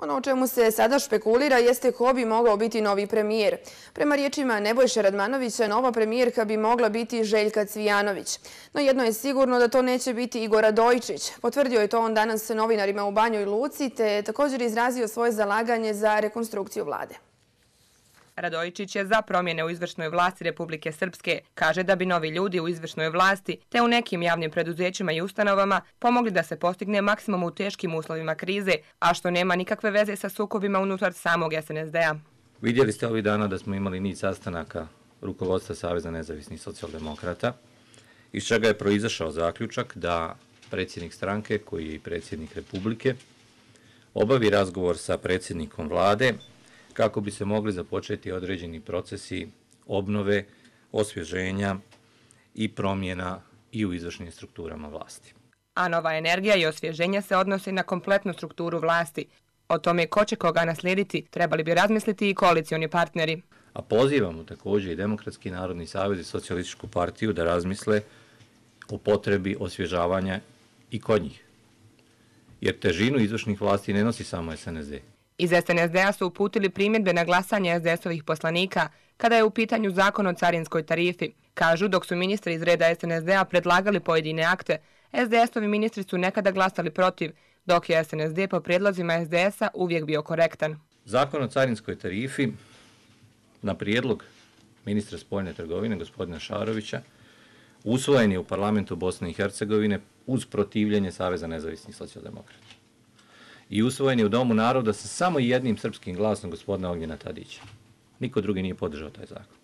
Ono o čemu se sada špekulira jeste ko bi mogao biti novi premijer. Prema riječima Nebojše Radmanovića, nova premijerka bi mogla biti Željka Cvijanović. No jedno je sigurno da to neće biti Igor Radojičić. Potvrdio je to on danas novinarima u Banjoj Luci, te je također izrazio svoje zalaganje za rekonstrukciju vlade. Radojičić je za promjene u izvršnoj vlasti Republike Srpske. Kaže da bi novi ljudi u izvršnoj vlasti te u nekim javnim preduzećima i ustanovama pomogli da se postigne maksimum u teškim uslovima krize, a što nema nikakve veze sa sukobima unutar samog SNSD-a. Vidjeli ste ovih dana da smo imali niz sastanaka rukovodstva Saveza nezavisnih socijaldemokrata, iz čega je proizašao zaključak da predsjednik stranke, koji je i predsjednik Republike, obavi razgovor sa predsjednikom vlade kako bi se mogli započeti određeni procesi obnove, osvježenja i promjena i u izvršnim strukturama vlasti. A nova energija i osvježenje se odnose na kompletnu strukturu vlasti. O tome ko će koga naslijediti trebali bi razmisliti i koalicioni partneri. A pozivamo također i Demokratski narodni savez i Socijalističku partiju da razmisle o potrebi osvježavanja i kod njih. Jer težinu izvršnih vlasti ne nosi samo SNSD. Iz SNSD-a su uputili primjedbe na glasanje SDS-ovih poslanika kada je u pitanju zakon o carinskoj tarifi. Kažu, dok su ministri iz reda SNSD-a predlagali pojedine akte, SDS-ovi ministri su nekada glasali protiv, dok je SNSD po prijedlozima SDS-a uvijek bio korektan. Zakon o carinskoj tarifi na prijedlog ministra spoljne trgovine gospodina Šarovića usvojen je u parlamentu Bosne i Hercegovine uz protivljenje Saveza nezavisnih socijaldemokrata. I usvojen je u Domu naroda sa samo jednim srpskim glasom gospodina Ognjena Tadića. Niko drugi nije podržao taj zakon.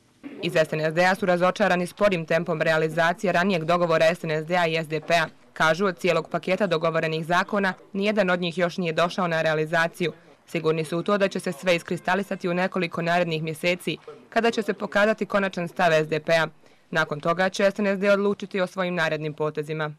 Iz SNSD-a su razočarani sporim tempom realizacije ranijeg dogovora SNSD-a i SDP-a. Kažu, od cijelog paketa dogovorenih zakona, nijedan od njih još nije došao na realizaciju. Sigurni su u to da će se sve iskristalisati u nekoliko narednih mjeseci, kada će se pokazati konačan stav SDP-a. Nakon toga će SNSD odlučiti o svojim narednim potezima.